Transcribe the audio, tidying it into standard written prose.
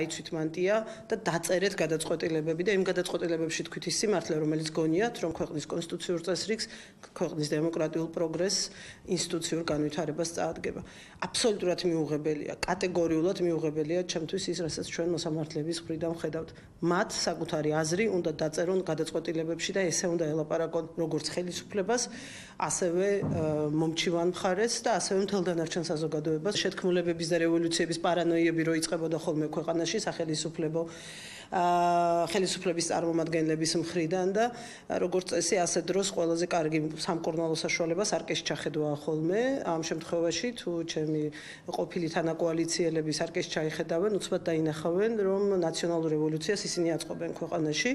აიცვით მანტია და დაწერეთ გადაწყვეტილებები და იმ გადაწყვეტილებებში თქვით ის სიმართლე, რომელიც გონიათ, რომ ქვეყნის კონსტიტუციურ წესრიგს, ქვეყნის დემოკრატიულ პროგრესს, ინსტიტუციურ განვითარებას წაადგება. აბსოლუტურად მიუღებელია, კატეგორიულად მიუღებელია ჩემთვის ის, რასაც ჩვენ მოსამართლეების მხრიდან ვხედავთ. მათ საკუთარი აზრი უნდა დაწერონ გადაწყვეტილებებში და ესე უნდა ელაპარაკონ როგორც ხელისუფლებას, ასევე მომჩივან მხარეს და ასევე მთელ დანარჩენ საზოგადოებას. შეთქმულებების და რევოლუციების პარანოიები რო იწყებოდა ხოლმე ქვეყანაში ხელისუფლების წარმომადგენლების მხრიდან და როგორც წესი ასე დროს ყველაზე კარგი სამკურნალო საშუალება სარკეში ჩახედვაა ხოლმე. ამ შემთხვევაში თუ ჩემი ყოფილი თანაკოალიციელები სარკეში ჩაიხედავენ, უცბად დაინახავენ, რომ ნაციონალურ რევოლუციას ისინი აწყობენ ქვეყანაში.